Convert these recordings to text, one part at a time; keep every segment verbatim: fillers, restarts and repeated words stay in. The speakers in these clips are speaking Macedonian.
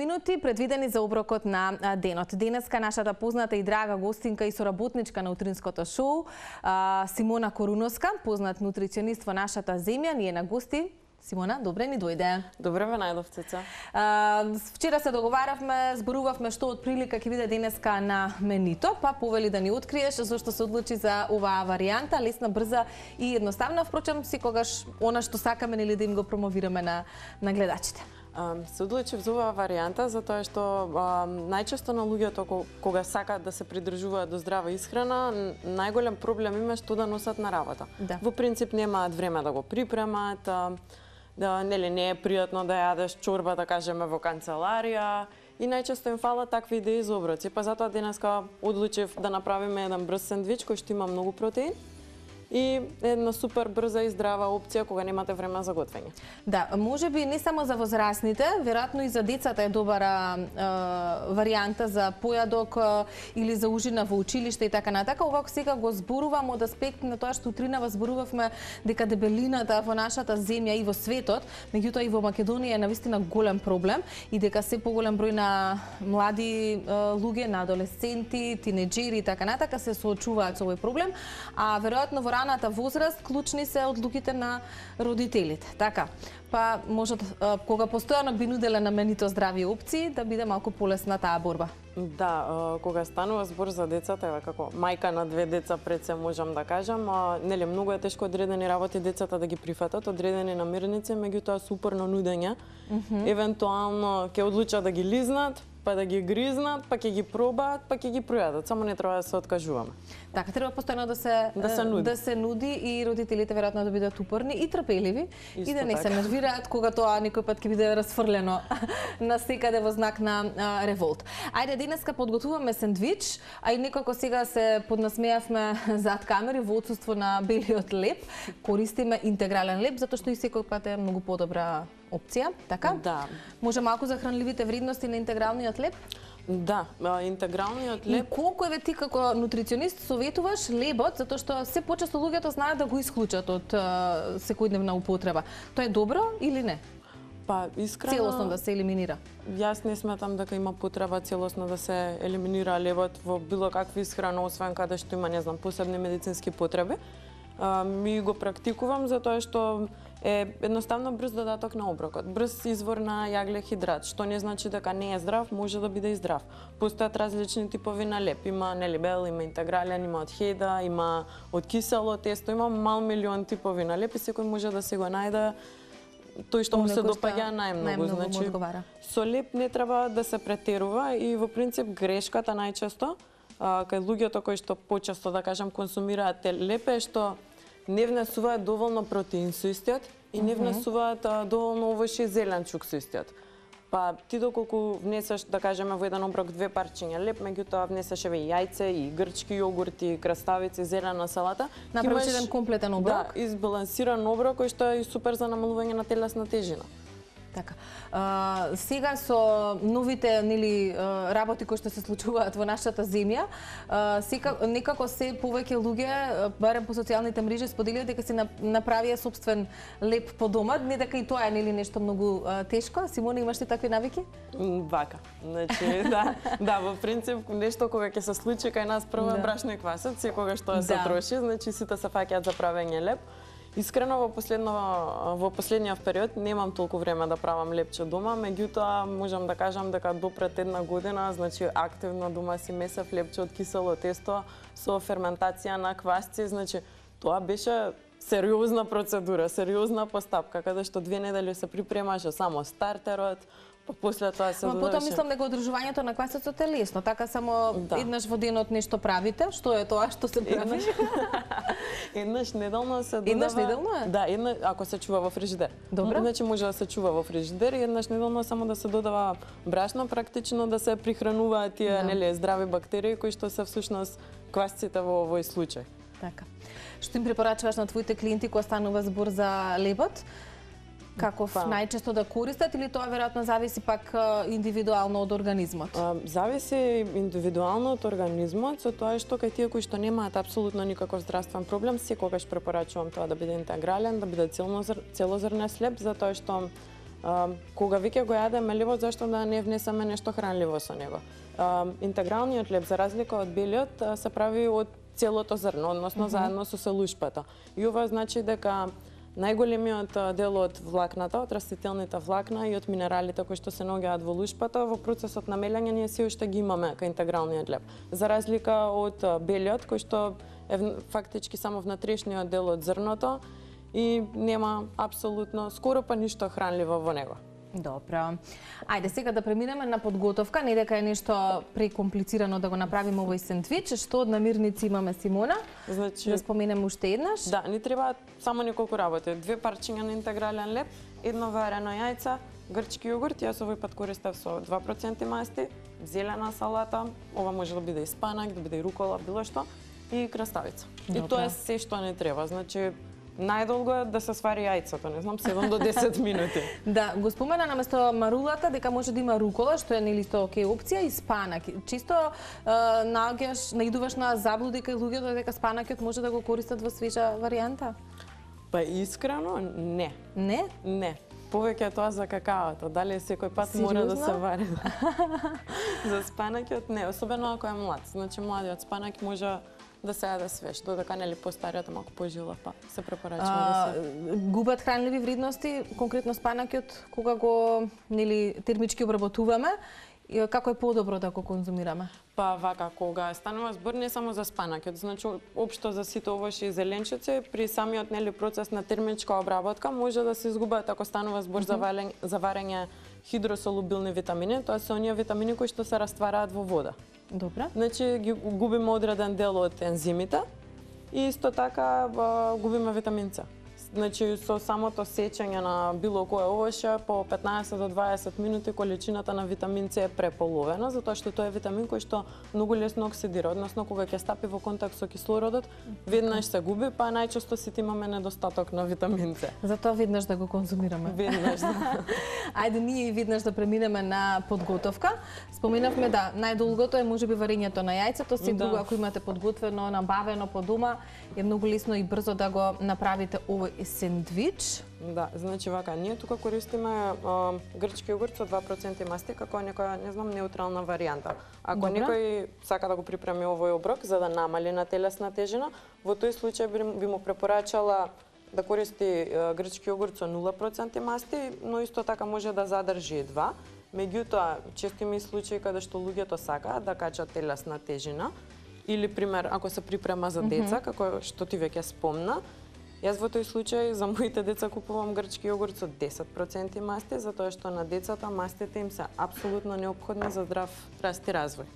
минути предвидени за оброкот на денот. Денеска нашата позната и драга гостинка и соработничка на утринското шоу, Симона Коруновска, познат нутриционист во нашата земја, ни е на гости. Симона, добре ни дојде. Добре ве најдов, Цеца. Вчера се договаравме, зборувавме што од прилика ќе биде денеска на менито, па повели да ни откриеш зашто се одлучи за оваа варијанта, лесна, брза и едноставна, впрочем секогаш она што сакаме нели да им го промовираме на на гледачите. Се одлучив за оваа варијанта затоа што а, најчесто на луѓето кога сакаат да се придржуваат до здрава исхрана, најголем проблем има што да носат на работа. Да. Во принцип немаат време да го припремат, а, да нели не е пријатно да јадеш чорба, да кажеме, во канцеларија и најчесто им фалат такви идеи за оброци. Па затоа денеска одлучив да направиме еден брз сендвич кој што има многу протеин и една супер брза и здрава опција кога немате време за готвење. Да, можеби не само за возрастните, веројатно и за децата е добра е, варијанта за појадок е, или за ужина во училиште и така натака. Ова сега го зборувам од аспект на тоа што утринава зборувавме дека дебелината во нашата земја и во светот, меѓутоа и во Македонија е навистина голем проблем и дека се поголем број на млади е, луѓе, на адолесценти, тинеџери и така натака се соочуваат со овој проблем, а веројатно во раната возраст клучни се одлуките на родителите. Така, па можат кога постојано би нуделе на менито здрави опции да биде малку полесна таа борба. Да, кога станува збор за децата, еве како мајка на две деца пред се можам да кажам, нели многу е тешко одредени работи децата да ги прифатат, одредени намирници, меѓутоа супер на нудење. Mm -hmm. Евентуално ќе одлучат да ги лизнат, па да ги гризнат, па ќе ги пробаат, па ќе ги пројадат. Само не треба да се откажуваме. Така, треба постојано да се да се нуди, да се нуди и родителите веројатно да бидат упорни и трпеливи. Исто и да не така се нервираат кога тоа некој пат ќе биде расфрлено на секаде во знак на а, револт. Ајде, денеска подготвуваме сендвич, а и некако сега се поднасмеавме зад камери во отсуство на белиот леб. Користиме интегрален леб затоа што и секој пат е многу подобра опција, така? Да. Може малку за хранливите вредности на интегралниот леб? Да, интегралниот леб. И колку еве ти како нутриционист советуваш лебот, затоа што се почесто луѓето знаат да го исклучат од секојдневна употреба. Тоа е добро или не? Па, искрено целосно да се елиминира. Јас не сметам дека има потреба целосно да се елиминира лебот во било какви исхрана, освен каде што има, не знам, посебни медицински потреби. А, ми го практикувам затоа што е едноставно брз додаток на оброкот, брз извор на јагле хидрат, што не значи дека не е здрав, може да биде и здрав. Постојат различни типови на леб, има нели бел, има интегрален, има од хеда, има од кисело тесто, има мал милион типови на леб и секој може да се го најде тој што му се допаѓа најмногу. Значи, со леб не треба да се претерува и во принцип грешката најчесто кај луѓето кои што почесто, да кажам, консумираат леб е што не внесуваат доволно протеин со истиот и не внесуваат а, доволно овош и зеленчук со истиот. Па ти доколку внесеш, да кажеме, во еден оброк две парчиња леб, меѓутоа внесеш еве јајце и грчки јогурти, краставици, зелена салата, направиш еден комплетен оброк. Да, избалансиран оброк кој што е супер за намалување на телесна тежина. Така. А, сега со новите нели работи кои што се случуваат во нашата земја, а, сега некако се повеќе луѓе, барем по социјалните мрежи, споделуваат дека си направија собствен леб по дома, не дека и тоа е нели нешто многу а, тешко. Симона, имаш ли такви навики? Вака. Значи, да, да, во принцип нешто кога ќе се случи кај нас прво да. Брашно и квасот, секогаш тоа да. Се троши, значи сите се фаќаат за правење леб. Искрено во последно во последниот период немам толку време да правам лепче дома, меѓутоа можам да кажам дека до пред една година, значи активно дома си месев лепче од кисело тесто со ферментација на квасци, значи тоа беше сериозна процедура, сериозна постапка, каде што две недели се припремаше само стартерот, па после тоа се додаваше. Потоа мислам дека одржувањето на квасецот е лесно, така само да. Еднаш во денот нешто правите, што е тоа што се прави? Еднаш неделно се додава. Еднаш неделно е? Да, една ако се чува во фрижидер. Добро. Значи може да се чува во фрижидер и еднаш неделно само да се додава брашно, практично да се прихрануваат тие да. Нели здрави бактерии кои што се всушност квасците во овој случај. Така. Што им препорачуваш на твоите клиенти кога станува збор за лебот? Каков па. Најчесто да користат или тоа веројатно зависи пак индивидуално од организмот? А, зависи индивидуално од организмот, со тоа што кај тие кои што немаат апсолутно никаков здравствен проблем, секогаш препорачувам тоа да биде интегрален, да биде целозрнест леб, затоа што А, кога веќе го јадеме лебот, зашто да не внесеме нешто хранливо со него? А, интегралниот леб, за разлика од белиот, се прави од целото зрно, односно mm -hmm. заедно со селушпата. И ова значи дека најголемиот дел од влакната, од растителните влакна и од минералите кои што се наоѓаат во лушпата, во процесот на мелење ние се уште ги имаме кај интегралниот леб. За разлика од белиот, кој што е фактички само внатрешниот дел од зрното и нема апсолутно скоро па ништо хранливо во него. Добро. Ајде сега да преминеме на подготовка, не дека е нешто прекомплицирано да го направиме овој сендвич. Што од намирници имаме, Симона? Значи, да споменеме уште еднаш. Да, ни требаат само неколку работи. Две парчиња на интегрален леб, едно варено јајце, грчки јогурт, јас овој пат користев со два проценти масти, зелена салата, ова може да биде и спанак, да биде и рукола, било што, и краставица. Добре. И тоа е се што не треба. Значи, најдолго е да се свари јајцето, не знам, седум до десет минути. Да, го спомена наместо марулата дека може да има рукола, што е нели тоа окей опција, и спанак. Чисто е, наоѓаш, наидуваш на заблуди кај луѓето дека спанакот може да го користат во свежа варијанта? Па искрено, не. Не? Не. Повеќе е тоа за какаото, дали секој пат Сериозно? Мора да се вари. За спанакот не, особено ако е млад. Значи младиот спанак може да се јаде свеж, додека нели постариот малку пожилав, па се препорачува да се губат хранливи вредности, конкретно спанакот кога го нели термички обработуваме, како е подобро да го конзумираме? Па вака, кога станува збор не само за спанакот, значи општо за сите овошји и зеленчуци, при самиот нели процес на термичка обработка може да се изгубат ако станува збор mm -hmm. за варење хидросолубилни витамини, тоа се оние витамини кои што се раствараат во вода. Добра. Значи ги губиме одреден дел од ензимите и исто така губиме витамин С. Значи со самото сечење на било кое овоше по петнаесет до дваесет минути количината на витамин С е преполовена, затоа што тоа е витамин кој што многу лесно оксидира, односно кога ќе стапи во контакт со кислородот, веднаш се губи, па најчесто сите имаме недостаток на витамин С. Затоа веднаш да го конзумираме. Веднаш, да. Ајде ние и веднаш да преминеме на подготовка. Споменавме да најдолгото е можеби варењето на јајцето, се друго ако имате подготвено, набавено по дома, е многу лесно и брзо да го направите овој сендвич. Да, значи вака, ние тука користиме а, грчки јогурт со два проценти масти како некоја, не знам, неутрална варијанта. Ако Добра. Некој сака да го припреми овој оброк за да намали на телесна тежина, во тој случај би, би му препорачала да користи а, грчки јогурт со нула проценти масти, но исто така може да задржи и два. Меѓутоа, често има и случаи каде што луѓето сакаат да качат телесна тежина, или пример ако се припрема за деца, mm -hmm. како што ти веќе спомна. Јас во тој случај за моите деца купувам грчки јогурт со десет проценти масти, затоа што на децата мастите им се апсолутно неопходни за здрав раст и развој.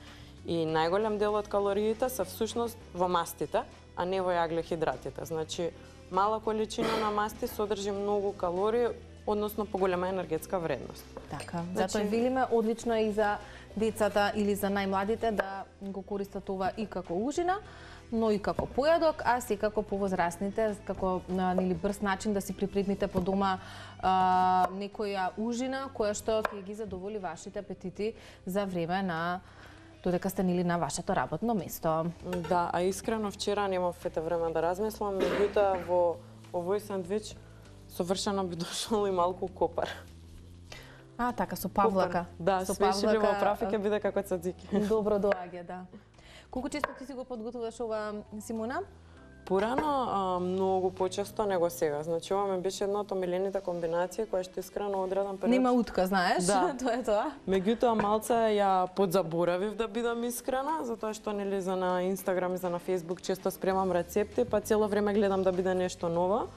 И најголем дел од калориите се всушност во мастите, а не во јаглехидратите. Значи, мала количина на масти содржи многу калории, односно поголема енергетска вредност. Така, значи... затоа велиме одлично е и за децата или за најмладите да го користат ова и како ужина, но и како појадок, а секако повозрасните, како нели брз начин да си припремите по дома а, некоја ужина која што ќе ги задоволи вашите апетити за време на додека сте нели на вашето работно место. Да, а искрено вчера немав ете време да размислам, меѓутоа во овој сандвич совршено би дошол и малку копар. А, така, со павлака. Копар. Да, со свежи во прафи ќе биде како цацики. Добро доаѓа, да. Колку често ти си го подготвуваш ова, Симона? Порано а, многу почесто него сега. Значи ова ми беше една од омилените комбинации која што искрено одреден период. Нема утка, знаеш? Да. Тоа е тоа. Меѓутоа малце ја подзаборавив да бидам искрена, затоа што нели за на Инстаграм и за на Фејсбук често спремам рецепти, па цело време гледам да биде нешто ново.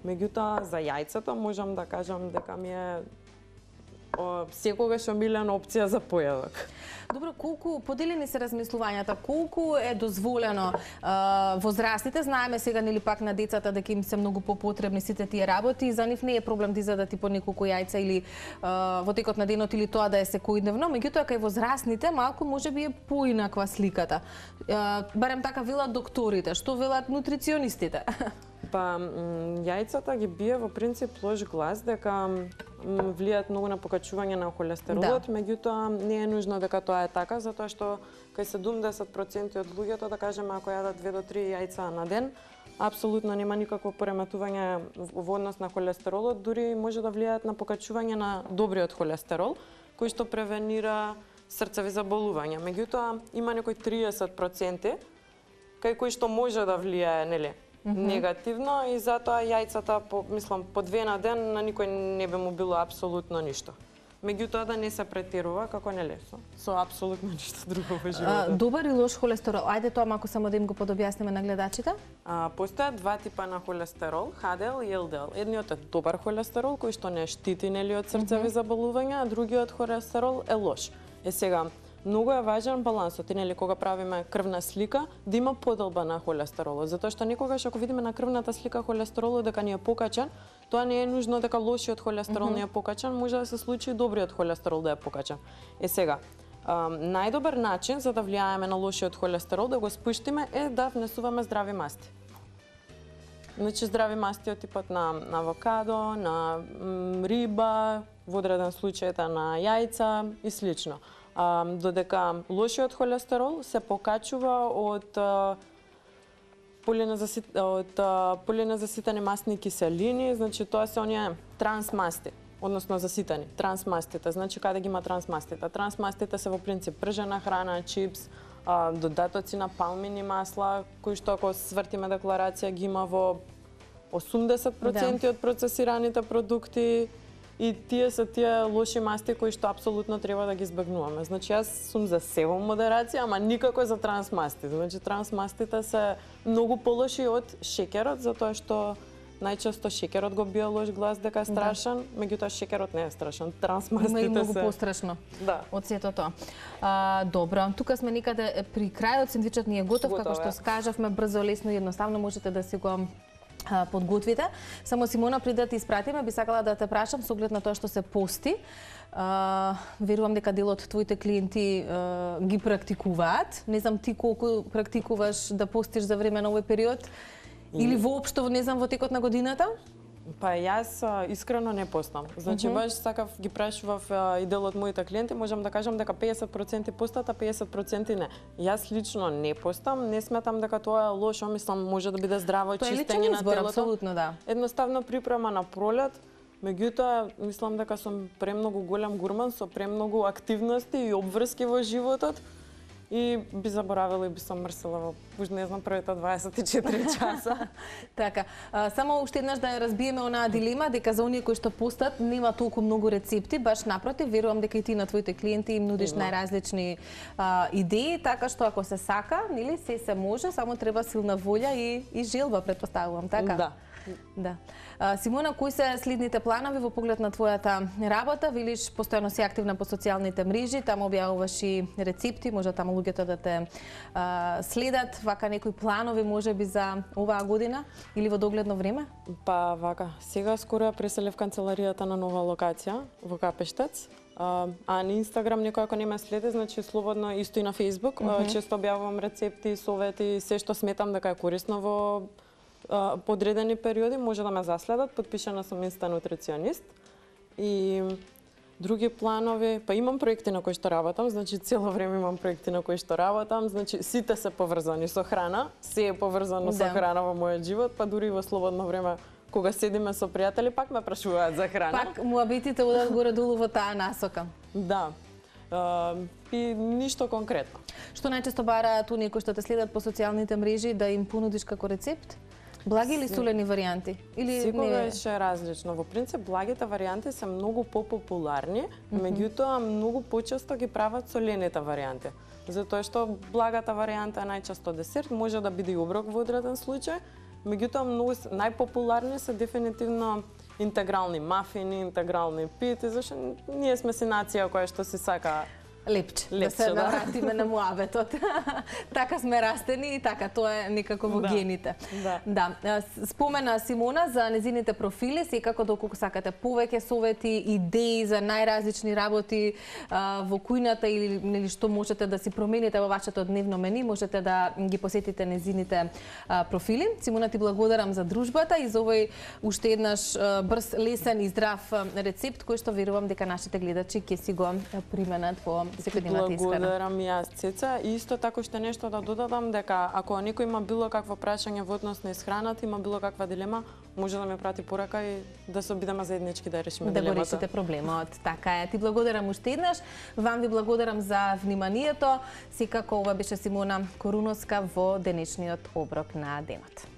Меѓутоа за јајцето можам да кажам дека ми е о, секогаш омилена опција за појадок. Добро, колку поделени се размислувањата, колку е дозволено а, возрастните, знаеме сега нели пак на децата дека им се многу попотребни сите тие работи, за нив не е проблем да изедат и по неколку јајца или а, во текот на денот или тоа да е секојдневно, меѓутоа кај возрастните малку можеби е поинаква сликата. А, барем така велат докторите, што велат нутриционистите? Па јајцата ги бие во принцип лош глас дека влијаат многу на покачување на холестеролот, да. Меѓутоа не е нужно дека тоа е така, затоа што кај седумдесет проценти од луѓето, да кажеме, ако јадат две до три јајца на ден, апсолутно нема никакво пореметување во однос на холестеролот, дури може да влијаат на покачување на добриот холестерол, кој што превенира срцеви заболувања. Меѓутоа, има некои триесет проценти кај кои што може да влијае, нели, mm -hmm. негативно, и затоа јајцата, по, мислам, по две на ден на никој не би му било апсолутно ништо. Меѓутоа да не се претерува, како нели, со, со апсолутно ништо друго во животот. А, добар и лош холестерол, ајде тоа малку само да им го подобјасниме на гледачите. А, постојат два типа на холестерол, Х Д Л и Л Д Л. Едниот е добар холестерол, кој што не штити, нели, од срцеви mm -hmm. заболувања, а другиот холестерол е лош. Е сега, многу е важен балансот, и нели кога правиме крвна слика, да има поделба на холестеролот, затоа што некогаш ако видиме на крвната слика холестеролот дека ни е покачен, тоа не е нужно дека лошиот холестерол mm -hmm. не е покачен, може да се случи и добриот холестерол да е покачен. Е сега, а, најдобар начин за да влијаеме на лошиот холестерол, да го спуштиме, е да внесуваме здрави масти. Значи здрави масти од типот на, на авокадо, на м, риба, во одреден случај на јајца и слично. А, додека лошиот холестерол се покачува од а, полинезасит, од а, полинезаситени масни киселини, значи тоа се оние трансмасти, односно заситани, трансмастите. Значи каде ги има трансмастите? Трансмастите се во принцип пржена храна, чипс, а, додатоци на палмини масла, кои што ако свртиме декларација ги има во осумдесет проценти да. од процесираните продукти. И тие се тие лоши масти кои што апсолутно треба да ги избегнуваме. Значи јас сум за се во модерација, ама никако за трансмасти. Значи трансмастите се многу полоши од шеќерот, затоа што најчесто шеќерот го бија лош глас дека е страшен, да. Меѓутоа шеќерот не е страшен. Трансмастите се многу пострашно. Да. Од сето тоа. А, добро, тука сме никаде при крајот, сендвичот ни е готов, готов како што скажавме, брзо, лесно и едноставно можете да си го подготвите. Само Симона, пред да ти испратиме, би сакала да те прашам со оглед на тоа што се пости. А, верувам дека дел од твоите клиенти а, ги практикуваат. Не знам ти колку практикуваш да постиш за време на овој период или воопшто, не знам, во текот на годината? Па јас искрено не постам. Значи, mm -hmm. баш сакав ги прашував и дел од моите клиенти, можам да кажам дека пеесет проценти постат, а пеесет проценти не. Јас лично не постам, не сметам дека тоа е лошо, мислам може да биде здраво чистење на телото. Апсолутно, да. Едноставно припрема на пролет, меѓутоа мислам дека сум премногу голем гурман со премногу активности и обврски во животот. И би заборавила и би се мрсила во, уж не знам, првите дваесет и четири часа. Така, а, само уште еднаш да ја разбиеме онаа дилема дека за оние кои што постат нема толку многу рецепти, баш напротив, верувам дека и ти на твоите клиенти им нудиш има најразлични а, идеи, така што ако се сака, нели, се се може, само треба силна волја и, и желба, претпоставувам, така? Да. Да. А, Симона, кои се следните планови во поглед на твојата работа? Велиш, постојано си активна по социјалните мрежи, таму објавуваш и рецепти, може таму луѓето да те а, следат. Вака некои планови може би за оваа година или во догледно време? Па вака, сега скоро ја преселив канцеларијата на нова локација во Капештец. А, а на Инстаграм некој ако не ме следи, значи слободно, исто и на Фејсбук, mm -hmm. често објавувам рецепти, совети, се што сметам дека е корисно во подредени периоди, може да ме заследат. Подпишана сум Инста нутриционист. И други планови, па имам проекти на кои што работам, значи цело време имам проекти на кои што работам, значи сите се поврзани со храна, се е поврзано да. со храна во мојот живот, па дури во слободно време кога седиме со пријатели пак ме прашуваат за храна. Пак муабитите одат горе-долу во таа насока. Да. Uh, и ништо конкретно. Што најчесто бараат оние кои што те следат по социјалните мрежи да им понудиш како рецепт? Благи или солени варијанти? Или секогаш е различно. Во принцип, благите варијанти се многу попопуларни, mm -hmm. меѓутоа многу почесто ги прават солените варијанти. Затоа што благата варијанта е најчесто десерт, може да биде и оброк во одреден случај, меѓутоа многу најпопуларни се дефинитивно интегрални мафини, интегрални пити, зашто ние сме си нација која што си сака лепче, лепче, да се да. навратиме на муабетот. Така сме растени и така тоа е некако во да. гените. Да. Да. Спомена Симона за незините профили, секако доколку сакате повеќе совети, идеи за најразлични работи а, во кујната или нели што можете да си промените во вашето дневно мени, можете да ги посетите незините а, профили. Симона, ти благодарам за дружбата и за овој уште еднаш а, брз, лесен и здрав рецепт кој што верувам дека нашите гледачи ќе си го применат во секој ден имате исхрана. Благодарам и јас, Цеца. И исто така што нешто да додадам, дека ако некој има било какво прашање во однос на исхраната, има било каква дилема, може да ме прати порака и да се обидеме заеднички да решиме да дилемата. Да го решите проблемот. Така е. Ти благодарам уште еднаш. Вам ви благодарам за вниманието. Секако ова беше Симона Коруновска во денешниот оброк на денот.